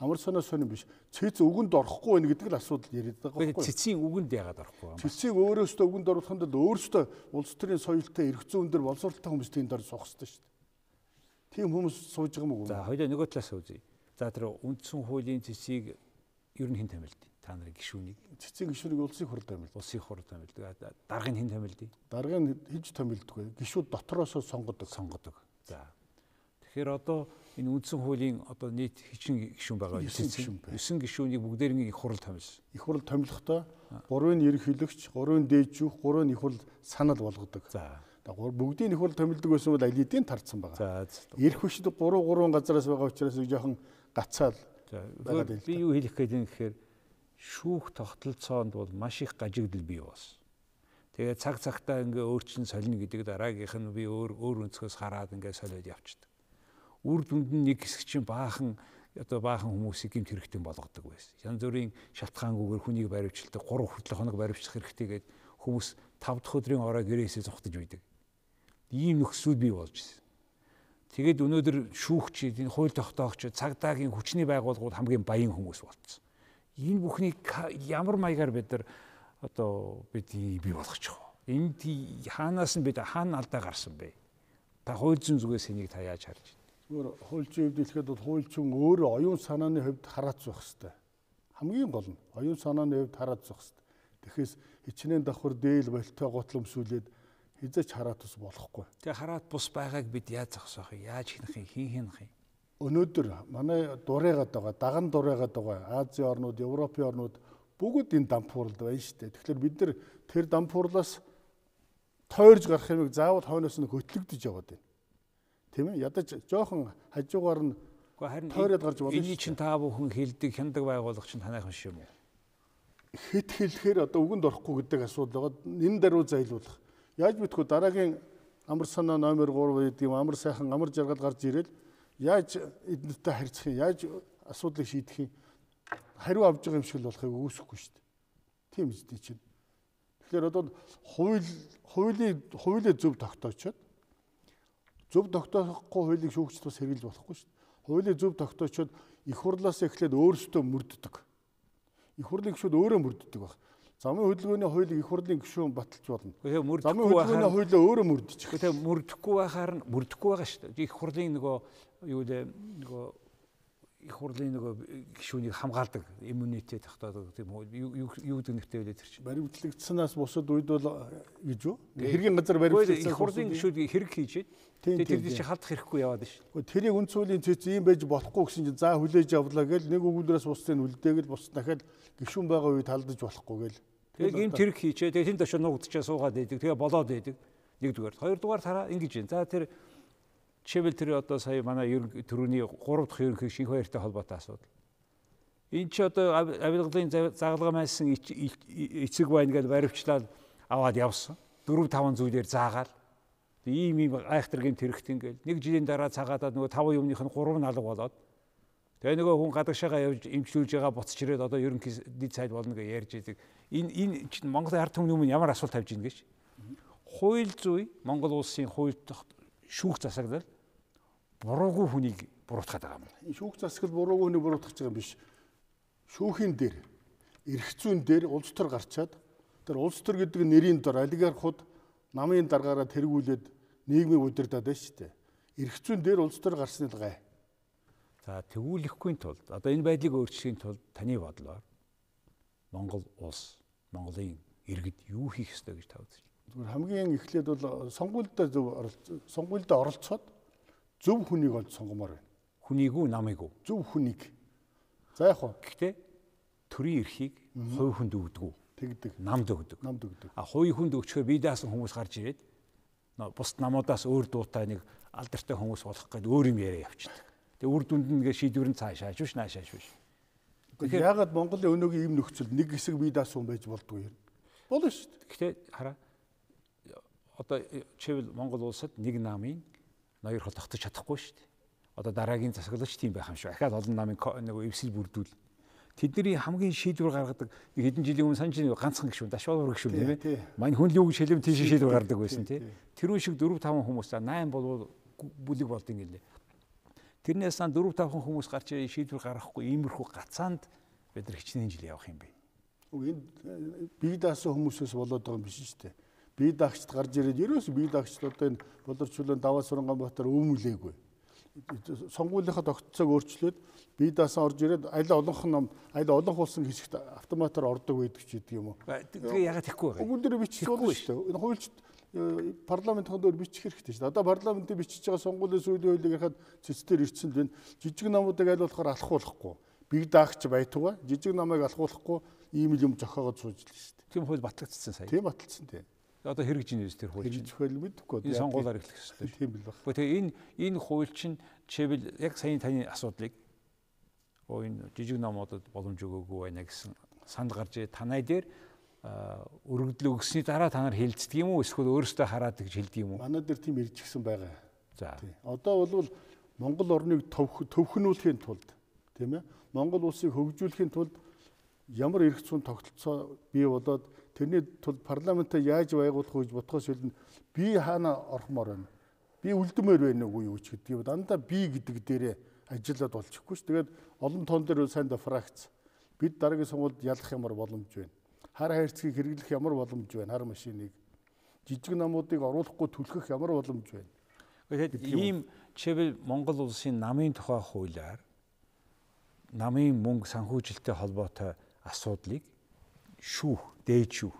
амар санаа сонирн биш. Цэц үгэнд орохгүй байх гэдэг л асуудал яриад байгаа байхгүй. Цэцгийн үгэнд ягаад орохгүй юм? Цэцгийг өөрөөсөө үгэнд оруулахын тулд өөрөөсөө улс төрийн соёлтой эрх зүйн дээр боловсролтой хүмүүс тийм дор суух хэрэгтэй шít. Тийм хүмүүс сууж байгаа юм уу? За хоёул нөгөө талаас үзье. За тэр үндсэн хуулийн цэцгийг ер нь хэн томилдیں۔ Та нарын гишүүнийг. Цэцгийн гишүүнийг улсын хурд томилдог. Улсын хурд томилдог. Даргын хэн томилдیں۔ Даргын хийж томилдоггүй. Гишүүд дотроосоо сонгодог. За. Тэгэхээр одоо энэ үндсэн хуулийн одоо нийт хэчин гишүүн байгаа. 9 гишүүнийг бүгдээрийн их хурл томилсон. Их хурл томилохдоо 3-ын ерөнхийлөгч, 3-ын дээжүүх, 3-ын их хурл санал болгодог. За. Бүгдийн их хурл томилдог байсан бол аль хэдийн тарцсан байгаа. Ирэх хүчид 3 газараас байгаа учраас жоохон гацаал. Би юу хэлэх гээд юм гэхээр шүүх тогтолцоонд бол маш их гажигдал бий болсон. Тэгээд цаг цагтаа ингээ өөрчлөн солино гэдэг дараагийнх нь би өөр өнцгөөс хараад ингээ солиод явчихдаг. Үр дүнд нь нэг хэсэг чинь баахан хүмүүсийг гэмт хэрэгтэй болгодог байсан. Янз бүрийн шалтгаангүйгээр хүнийг баривчилдаг, 3 хүртэл хоног баривчлах хэрэгтэй гээд хүмүүс 5 дахь өдрийн орой гэрээсээ зогтож үйдэг. Ийм нөхцөл бий болж ирсэн. Тэгээд өнөөдөр шүүгчид, энэ хууль тогтоогч, цагдаагийн хүчний байгууллагууд хамгийн баян хүмүүс болцсон. Энэ бүхнийг ямар маягаар бид нар бий болгочих вэ? Энд хаанаас нь хаана алдаа гарсан бэ? Та хууль зүйн зүгээс энийг та яаж харж байна? Зүгээр хууль зүйн хувьд хэлэхэд бол хууль зүйн өөрөө оюун санааны хувьд хараац байх хэрэгтэй. Хамгийн гол нь оюун санааны хувьд хараац байх хэрэгтэй. Тэгэхээс хичнээн давхар дээл болтой готломсүүлээд хизээч хараат ус болохгүй. Тэгээ хараат бус байгааг бид яаж зогсоох вэ? Яаж хийнэх юм? Хийнх юм? Өнөөдөр манай дурайгаад байгаа, даган дурайгаад байгаа Азийн орнууд, Европын орнууд бүгд энэ дампууралд байна шүү дээ. Тэгэхээр бид нар тэр дампуурлаас тойрж гарах юмыг заавал хойноос нь хөтлөгдөж яваад байна. Тийм ээ? Ядаж жоохон хажуугаар нь тойроод гарч болно. Эний чинь та бүхэн хэлдэг хяндаг байгууллага чинь танайхан шүү юм уу? Хэд хэлэхээр одоо үгэнд орохгүй гэдэг асуудал байгаа. Энэ даруй зайлуулах. Яаж мэдгүй дараагийн амар санаа номер 3 гэдэг юм амар сайхан амар жаргал гарч ирэл яаж эднэртэй харьцах юм, яаж асуудлыг шийдэх юм, хариу авж байгаа юм шиг л болохыг үүсэхгүй шүү дээ. Тийм үстэй чинь. Тэгэхээр одоо хуулийг зөв тогтоочоод зөв тогтоохгүй хуулийг шүүгчд бас хэрэглэж болохгүй шүү дээ. Хуулийг зөв тогтоочоод их хурлаас эхлээд өөрсдөө мөрддөг. Их хурлын гишүүд өөрөө мөрддөг баг. Замын хөдөлгөөний хуулийг их хурлын гишүүн баталж болно. Замын хөдөлгөөний хуулиа өөрөө мөрдөж. Тэгээ мөрдөхгүй байгаа шүү дээ. Их хурлын их хурлын гишүүнийг хамгаалдаг иммунитет тогтоодог тийм юу гэдэг нэртэй байлээ тэр чинь. Баримтлагдсанаас бусад үед бол гэж үү? Хэргийн газар баримтлагдсан их хурлын гишүүд хэрэг хийжээд тэр чинь халдах хэрэггүй яваад шүү. Тэрийг үндс хуулийн цэц ийм байж болохгүй гэсэн чинь за хүлээж авлаа гэл нэг өгүүлбэрээс бусдыг үлдээгэл бус дахиад гишүүн байгаа үед халдаж болохгүй гэл. Тэгээ гэмт хэрэг хийчээ. Тэгээ тэнд очиж нуугдчихаа суугаад байдаг. Тэгээ болоод байдаг. Нэгдүгээр. Хоёрдугаар тараа ингэж юм. За тэр жишээлбэл тэр одоо сая манай төрөний 3 дахь ерөнхий шинх баяртай холбоотой асуудал. Энд чи одоо авилгалын загалгаа майсан эцэг байна гэж баривчлаад аваад явсан. 4-5 зүйлээр заагаал. Ийм айхтар гэмт хэрэгт ингээл нэг жилийн дараа цагаадаад нөгөө 5 юмных нь 3 налга болоод тэгээ нөгөө хүн гадагшаага явж эмчлүүлж байгаа буцаж ирээд одоо ерөнхий дэд сайд болно гэж ярьж идэг. Энэ чинь Монголын ард түмний өмнө ямар асуулт тавьж ийн гэж. Хууль зүй Монгол улсын хууль шүүх засаглал буруугүй хүнийг буруутгаад байгаа юм. Шүүх засаглал буруугүй хүнийг буруутгах гэж байгаа юм биш. Шүүхийн дээр эрх зүйн дээр улс төр гарчаад тэр улс төр гэдэг нэрийн дор олигархууд намын даргаараа тэргүүлээд нийгмийг удирдаад байна шүү дээ. Эрх зүйн дээр улс төр гарсны л гай. За тэгүүлэхгүй тулд одоо энэ байдлыг өөрчлөхийн тулд таны бодлоор Монгол улс, Монголын иргэд юу хийх ёстой гэж та үзэж байна? Зүгээр хамгийн эхлээд бол сонгуульд оролцоод зөв хүнийг олж сонгомоор байна. Хүнийг үү, намыг үү? Зөв хүнийг. За яг хоо. Гэхдээ төрийн эрхийг хувь хүнд өгдөг үү? Тэгдэг. Намд өгдөг. Намд өгдөг. Хувь хүнд өгчхөөр бие даасан хүмүүс гарч ирээд бусд намуудаас өөр дуутай нэг алдартай хүмүүс болох гэдэг өөр юм яриа явчихдаг. Тэгээ үр дүнд нь ингээ шийдвэр нь цаашааш биш, наашааш биш. Тэгэхээр яагаад Монголын өнөөгийн ийм нөхцөл нэг хэсэг бие даасан байж болдгоо юм? Болно шүү дээ. Гэхдээ хараа одоо чивэл Монгол улсад нэг намын ноёр хол тогтож чадахгүй шүү дээ. Одоо дараагийн засаглагч тийм байх юм шүү. Ахаад олон намын нэг эвсэл бүрдүүл. Тэдний хамгийн шийдвэр гаргадаг нэг хэдэн жилийн өмнө санаж нэг ганцхан гишүүн, дашвал гишүүн тийм ээ. Мань хүн л юу гэж хэлэм тийш шийдвэр гаргадаг байсан тийм. Тэр үн шиг 4-5 хүмүүс 8 болвол бүлэг болд юм гэлээ. Тэрнээс сан 4-5 хүмүүс гарч шийдвэр гаргахгүй иймэрхүү гацаанд бид нар хичнээн жил явах юм бэ. Энэ бие даасан хүмүүсээс болоод байгаа юм биш шүү дээ. Бие даагчд гарч ирээд ерөөс бие даагчд одоо энэ Болорчулын Даваа Сурангаанбаатар өөмүүлээгүй. Сонгуулийнхаа тогтцоог өөрчлөөд бие даасан орж ирээд аль олон хулсан хэсэгт автоматар ордог байдаг ч гэдэг юм уу. Тэгээ ягаад тэгхгүй вэ? Өгүүлбэр биччихгүй шүү дээ. Энэ хуульчд парламентын дээр бичих хэрэгтэй шүү дээ. Одоо парламентыг бичиж байгаа сонгуулийн сүүлийн хуулийг харахад цэцээр ирсэн л байна. Жижиг намуудыг аль болохоор алхуулахгүй. Биг даагч байтугай жижиг намыг алхуулахгүй ийм юм зохиогоод сууж л шүү дээ. Тийм хууль батлагдсан сая. Тийм батлсан тийм. Одоо хэрэгж ийн үст тэр хууль. Хэрэгж хууль мэдэхгүй. Энэ сонгуулиар эхлэх хэрэгтэй. Тийм бил баг. Тэгээ энэ хууль чинь жишээлбэл яг саяны таны асуудлыг энэ жижиг намуудад боломж өгөөгүй байна гэсэн санд гарч танай дээр өргөдлөө өгсөний дараа та нар хэлцдэг юм уу эсвэл өөрөөсөө хараад гэж хэлдэг юм уу? Манай дээр тийм ирж гисэн байгаа. За. Одоо бол Монгол орныг төвхнүүлэхийн тулд тийм ээ Монгол улсыг хөгжүүлэхийн тулд ямар эрх зүйн тогтолцоо бий болоод тэрний тулд парламентаа яаж байгуулах гэж бодхоос үлдэн би хаана орхмоор байна. Би үлдмээр байна уу юу ч гэдэг юм. Дандаа би гэдэг дээрээ ажиллаад болчихгүй ш. Тэгээд олон тоон дээр сайн да фракц. Бид дараагийн сонгуульд ялах ямар боломж байна. Хар хайрцгийг хэрэглэх ямар боломж байна. Хар машиныг жижиг намуудыг оруулахгүй түлхэх ямар боломж байна. Тэгээд ийм жишээлбэл Монгол улсын намын тухай хуулиар намын мөнгө санхүүжилттэй холбоотой асуудлыг дээд шүүх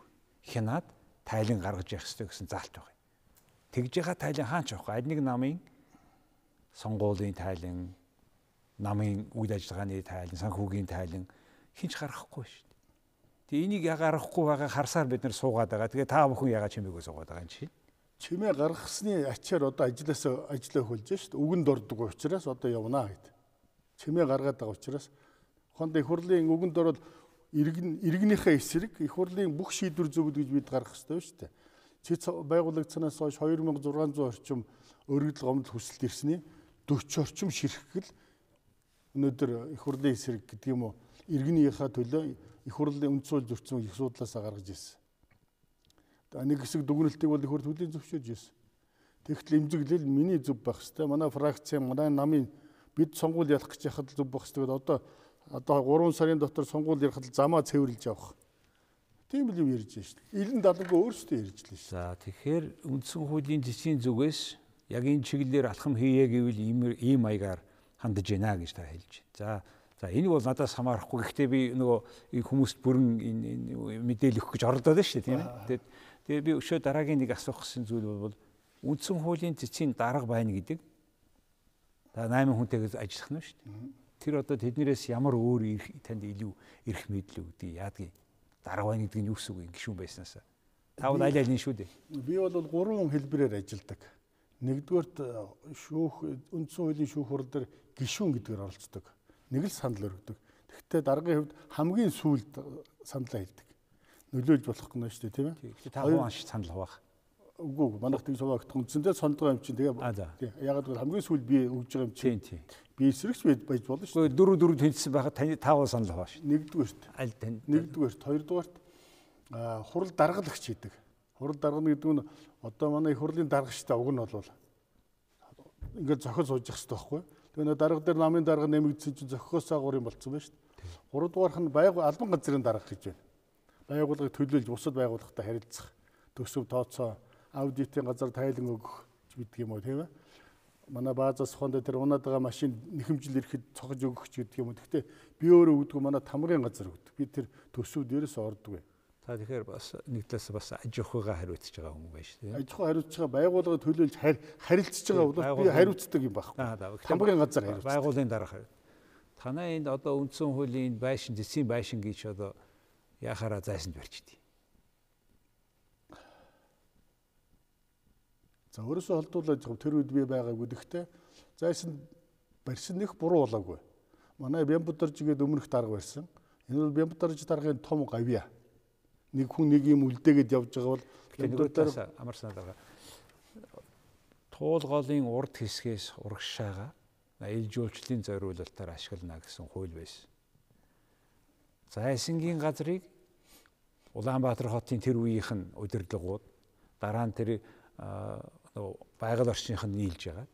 хянаад тайлан гаргаж явах хэрэгтэй гэсэн заалт байна. Тэгж яхаа тайлан хаач явах. Аль нэг намын сонгуулийн тайлан, намын үйл ажиллагааны тайлан, санхүүгийн тайлан хинч гаргахгүй шүү дээ. Тэгээ энийг яга гаргахгүй байгаа харсаар бид нар суугаад байгаа. Тэгээ та бүхэн яга чимээгүй суугаад байгаа юм чинь. Чимээ гаргахсны ачаар одоо ажиллаа хөлж шүү дээ. Үгэнд ордог учраас одоо явнаа гэд. Чимээ гаргаад байгаа учраас хонд их хурлын үгэнд ороод иргэнийхээ эсрэг их хурлын бүх шийдвэр зөвлөд гэж бид гаргах хэрэгтэй шүү дээ. Цэц байгуулагдсанаас хойш 2600 орчим өргөдөл гомдол хүсэлт ирсний 40 орчим ширхгэл өнөөдөр их хурлын эсрэг гэдэг юм уу иргэнийхээ төлөө их хурлын үндсүүл зөрчсөн их судлаасаа гаргаж ирсэн. Нэг хэсэг дүгнэлтийг бол их хурл хөлийн зөвшөөрж ирсэн. Тэгтэл эмзэглэл миний зөв байх хэрэгтэй. Манай фракц, манай намын бид сонгуул ялах гэж яхад зөв байх хэрэгтэй. Одоо 3 сарын дотор сонгуул ярихад замаа цэвэрлж явах. Тийм л юм ярьж байна шүү дээ. Илэн далангүй өөрсдөө ярьж л шүү. За тэгэхээр үндсэн хуулийн зэсийн зүгээс яг энэ чиглэлээр алхам хийе гэвэл ийм маягаар хандаж байна гэж та хэлж байна. За энэ бол надаас хамаарахгүй. Гэхдээ би нөгөө хүмүүст бүрэн энэ мэдээлэл өгөх гэж оролдоод байна шүү дээ, тийм ээ. Тэгээд би өшөө дараагийн нэг асуух гэсэн зүйл бол үндсэн хуулийн зэсийн дарга байна гэдэг. За 8 хүнтэйгээ ажиллах нь шүү дээ. Тэр одоо тэднэрээс ямар өөр танд илүү эрх мэдэл өгдөг яадгийг дарга байна гэдэг нь юу гэсэн үг юм гişүүн байснаас. Та бол аль аль нь шүү дээ. Би бол 3 хэлбэрээр ажилладаг. Нэгдүгээрт үндсэн хуулийн шүүх хурал дээр гишүүн гэдгээр оролцдог. Нэг л санал өргөдөг. Тэгэхдээ даргын хувьд хамгийн сүүлд саналаа хэлдэг. Нөлөөлж болох гэнэ шүү дээ, тийм ээ. Тэгэхээр та хувь анш санал хуваах. Үгүй манайх тийм суваагт үндсэндээ сондгоо юм чинь тэгээ ягаад гэвэл хамгийн сүүл би өгж байгаа юм чинь. Тийм. Би эсрэгч байж болно шүү дээ. Дөрөв тэнцсэн байхад таны таавал санал хувааш. Нэгдүгээрт. Аль тань. Нэгдүгээрт, хоёрдугаарт хурал даргалагч хийдэг. Хурал даргана гэдэг нь одоо манай их хурлын даргачтай уг нь бол ингээд зохиол сууж явах хэрэгтэй байхгүй. Тэгээ нөө дарга дээр намын дарга нэмэгдсэн чинь зохиос агуур юм болцсон байна шүү дээ. Гуравдугаарх нь албан газрын дарга гэж байна. Байгууллагыг төлөөлж бусад байгууллагатай харилцах, төсөв тооцоо, аудитын газар тайлан өгөх гэдэг юм уу, тийм ээ. Манай баазаас хонд тэр унаад байгаа машин нэхэмжил ирэхэд цогж өгөх гэдэг юм уу. Гэхдээ би өөрөө өгдөг манай тамгын газар өгдөг. Би тэр төсөв дээрээс ордог. Та тэгэхээр бас нэг талаас бас аж ахуйгаа хариуцж байгаа хүн байж тийм. Аж ахуй хариуцж байгаа байгууллага төлөөлж харилцаж байгаа бол би хариуцдаг юм байхгүй. Тамгын газар хариуцдаг. Байгууллагын дарга хариуцдаг. Танай энд одоо үндсэн хуулийн байшин, зэсийн байшин гэж одоо яхаараа зайсанд барьчихдээ. За өөрөөсөө холдуулаад тэр үед би байгаагүй. Гэхдээ зайсан барьсан нэг буруу болоогүй. Манай Бямбударж гээд өмнөх дарга барьсан. Энэ бол Бямбударж даргын том гавья. Нэг хүн нэг юм үлдээгээд явж байгаа бол Бямбударж амарсан дарга. Туулгоолын урд хэсгээс урагшаага ил жуулчлалын зориулалтаар ашиглана гэсэн хууль байсан. Зайсангийн газрыг Улаанбаатар хотын тэр үеийнх нь удирдлагууд дараа нь тэр байгаль орчных нь нийлж байгаа.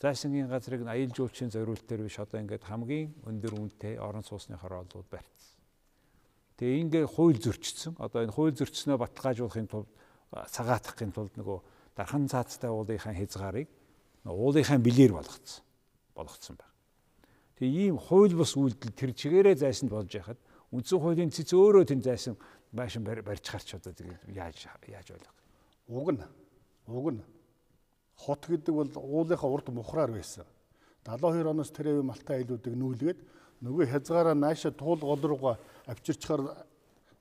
Зайсангийн газрыг аял жуулчлалын зориулалтаар биш одоо ингээд хамгийн өндөр үнэтэй орон сууцны хорооллууд барьцсан. Тэгээ ингээд хууль зөрчсөн. Одоо энэ хууль зөрчснөө баталгаажуулахын тулд цагаатгахын тулд нөгөө дархан цаацтай уулынхаа хязгаарыг уулынхаа билээр болгоцсон байна. Тэгээ ийм хууль бус үйлдэл тэр чигээрээ зайсанд болж яхад үндсэн хуулийн цэц өөрөө тэнд зайсан байшин барьж харч одоо тэгээд яаж ойлгох. Уг нь Уг нь хот гэдэг бол уулынхаа урд мухраар байсан. 72 оноос тэр үе Малтай айлуудыг нүүлгээд нөгөө хязгаараа нааша туул гол руугаа авчирчаар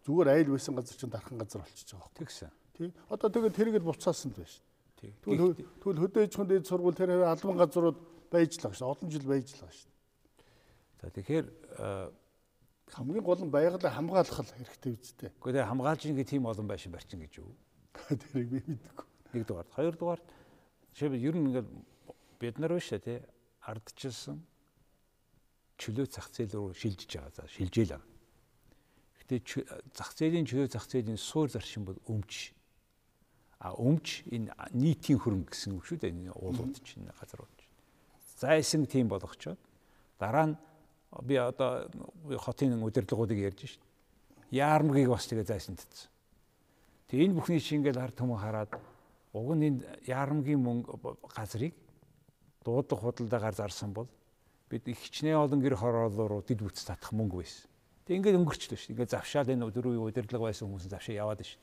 зүгээр айл байсан газар чинь дархан газар болчихж байгаа. Тэгсэн. Тий. Одоо тэгээд тэргээд буцаасан л байна шүү. Тий. Тэгвэл хөдөөжхөн дээд сургууль тэр албан газрууд байж л байгаа шүү. Олон жил байж л байгаа шүү. За тэгэхээр хамгийн гол нь байгалаа хамгаалах хэрэгтэй үстэй. Гэхдээ хамгаалж ингээ тийм олон байшин барьчин гэж юу? Тэрийг би мэдгүй. Нэгдүгээр, хоёрдугаар жишээ ер нь ингээ бид нар биш тий ардчилсан чөлөө зах зээл рүү шилжиж байгаа. За шилжээл байгаа. Гэхдээ зах зээлийн чөлөө зах зээлийн суур заршин бол өмч. Өмч энэ нийтийн хөрөнгө гэсэн үг шүү дээ. Энэ уулууд чинь газрууд чинь. Зайсан тийм болгочоод дараа нь би одоо хотын удирдлагуудыг ярьж шít. Яармгийг бас тэгээ зайсан татсан. Тэгээ энэ бүхний чинь ингээл ард түмэн хараад уг нь энэ яармгийн мөнгө газрыг дуудлага худалдаагаар зарсан бол бид их хичнээн олон гэр хороолоор дид бүтц татах мөнгө байсан. Тэг ингээд өнгөрчлөө шүү. Ингээд завшаал энэ дөрвийн удирдлага байсан хүмүүс завшаа яваад шүү.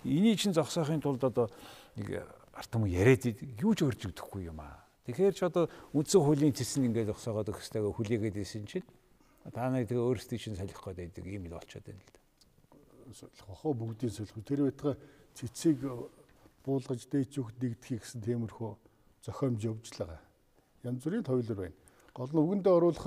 Эний чинь зогсоохын тулд одоо нэг ард түмэн яриад юу ч өрж өгөхгүй юм аа. Тэгэхээр ч одоо үндсэн хуулийн цэс нь ингээд зогсоогоод өгөхтэйгээ хүлээгээд исэн чинь та нарыг тэгээ өөрсдөө чинь солих гээд байдаг юм л болчиход байна л да. Хохоо бүгдийн солих. Тэр байтга цэцгийг буулгаж дээч өгд нэгдэхийг гэсэн тиймэрхүү зохиомж явж л байгаа. Янз бүрийн тойлор байна. Гол нь үгэндээ оруулах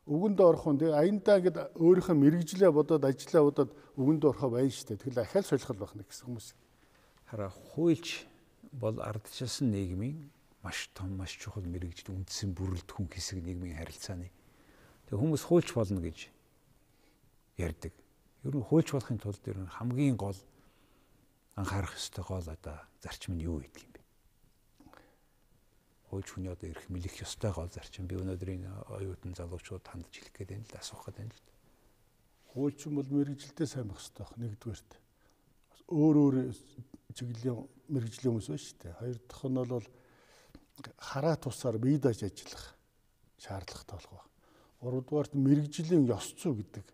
үгэндээ орох нь тэгээ аяндаа ингээд өөрийнхөө мэрэгжлээ бодоод ажиллаа бодоод үгэндээ орохоо байна шүү дээ. Тэгэхээр ахаал солих байх нэг гэсэн хүмүүс. Хараа хуульч бол ардчилсан нийгмийн маш том маш чухал мэрэгжил үндсэн бүрэлдэхүүн хэсэг нийгмийн харилцааны. Тэгээ хүмүүс хуульч болно гэж ярьдаг. Ер нь хуульч болохын тулд ер нь хамгийн гол анхаарах ёстой гол одоо зарчим нь юу гэдэг юм бэ? Хуульч хүний одоо эрх мэлэх ёстой гол зарчим би өнөөдрийн оюутан залуучууд хандж хэлэх гээд байна л асуух гээд байна л. Хуульч бол мэрэгжилдээ сайн байх ёстой байх нэгдүгээрт. Өөр чиглэлийн мэрэгжлийн хүмүүс байна шүү дээ. Хоёр дахь нь бол хараа тусаар бие дааж ажиллах шаардлагатай болох ба. Гуравдугаарт мэрэгжлийн ёс зүй гэдэг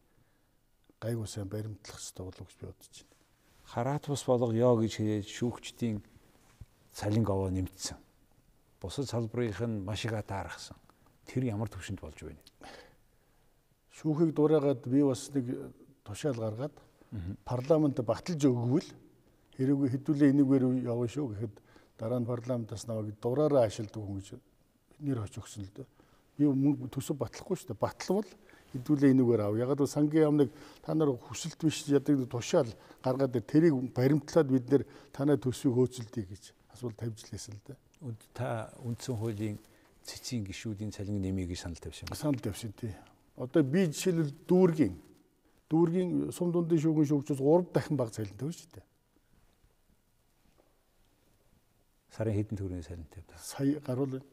гайгүй сайн баримтлах хэрэгтэй болов гэж би бодож байна. Хараат бус болгоё гэж хэлээд шүүгчдийн цалин аваа нэмэгдсэн. Бусад салбарынх нь маш их таарахсан. Тэр ямар төвшөнд болж байна? Шүүхийг дураагаад би бас нэг тушаал гаргаад парламент баталж өгвөл хэрэг хэдүүлээ энийгээр явна шүү гэхэд дараа нь парламентаас намайг дураараа ашигладаг хүн гэж нэр хоч өгсөн л дээ. Би мөнгө төсөв батлахгүй шүү дээ. Батлвал хэдүүлээ энийгээр ав. Ягаад гэвэл сангийн яамныг та нар хүсэлт биш ядаг тушаал гаргаад тэрийг баримтлаад бид нэр танай төсвийг хөөцөлдөе гэж асуулт тавьж лээсэн л дээ. Та үндсэн хуулийн цэцгийн гишүүдийн цалин нэмийг санал тавьсан юм. Санал тавьсан тий. Одоо би жишээлбэл дүүргийн сум дундын шүүгэн шүүгчээс 3 дахин бага цалин тавьж шүү дээ. Сарын хэдэн төгрөгийн цалин тавьдаг. Сая гаруул байна.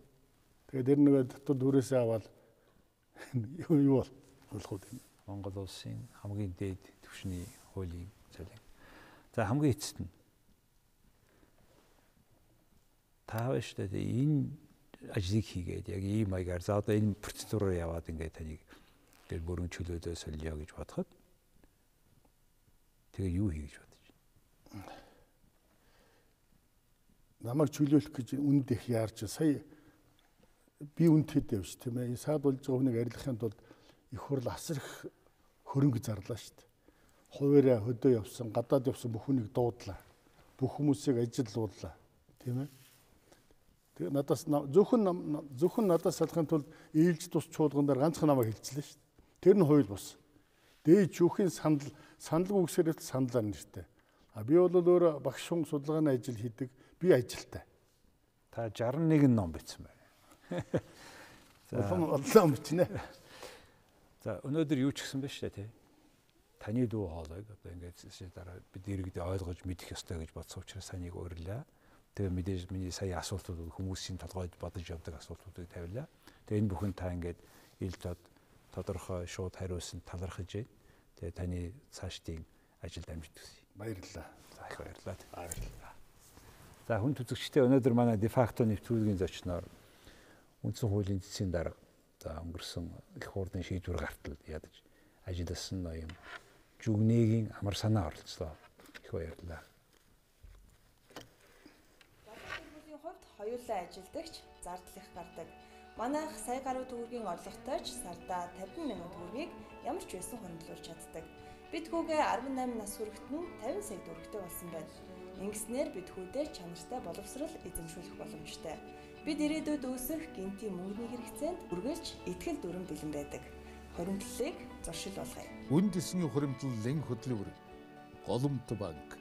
Тэгээд тэр нэгэ дотор дүүрээсээ аваад юу болох вэ? Монгол улсын хамгийн дээд түвшний хуулийн цалин. За хамгийн эцэст нь та биш дээ энэ ажлыг хийгээд яг ийм маягаар за одоо энэ процедураар яваад ингээд таныг тэр бүрэн чөлөөдөө солио гэж бодоход тэгээ юу хий гэж бодож байна? Намайг чөлөөлөх гэж үнд их яарч сая би үнд хэд явж тийм ээ саад болж байгаа хүнийг арилгахын тулд их хурл асар их хөрөнгө зарлаа шүү дээ. Хуваараа хөдөө явсан, гадаад явсан бүх хүнийг дуудлаа. Бүх хүмүүсийг ажилууллаа. Тийм ээ. Тэгээ надаас зөвхөн надаас салахын тулд ээлж тус чуулгандар ганцхан намайг хэлчихлээ шүү дээ. Тэр нь хууль бус. Дээд шүүхийн санал үгсээрэл саналаар нэртэй. Би бол өөр багш хүн судалгааны ажил хийдэг. Би ажилтай. Та 61 ном бичсэн байна. Олон бичнэ. За өнөөдөр юу ч гэсэн байна шүү дээ тий. Таны дүү хоолойг одоо ингээд дараа бид иргэдээ ойлгож мэдэх ёстой гэж бодсон учраас санийг урьлаа. Тэгээ мэдээж миний сая асуултууд хүмүүсийн толгойд бодож явдаг асуултуудыг тавилаа. Тэгээ энэ бүхэн та ингээд ил тодорхой шууд хариулсан талархаж байна. Тэгээ таны цаашдын ажилд амжилт хүсье. Баярлалаа. За их баярлалаа. Баярлалаа. За хүн түзэгчтэй өнөөдөр манай дефакто нэвтрүүлгийн зочноор үндсэн хуулийн цэцгийн дарга за өнгөрсөн их хурлын шийдвэр гартал ядаж ажилласан ноён Жүгнэгийн амар санаа оролцлоо. Их баярлалаа. Хоёулаа ажилдагч зардал их гардаг. Манайх сая гаруй төгрөгийн орлоготой ч сардаа 50 мянган төгрөгийг ямар ч байсан хөрөнгөлүүлж чаддаг. Бидгүүгээ 18 нас хүрэхэд нь 50 сая төгрөгтэй болсон байна. Ингэснээр бидгүүдээ чанартай боловсрол эзэмшүүлэх боломжтой. Бид ирээдүйд үүсэх гинтийн мөнгөний хэрэгцээнд үргэлж итгэл дүрэн бэлэн байдаг. Хуримтлалыг зуршил болгоё. Үнд эсний хуримтлал лэн хөдөлгөөр Голомт банк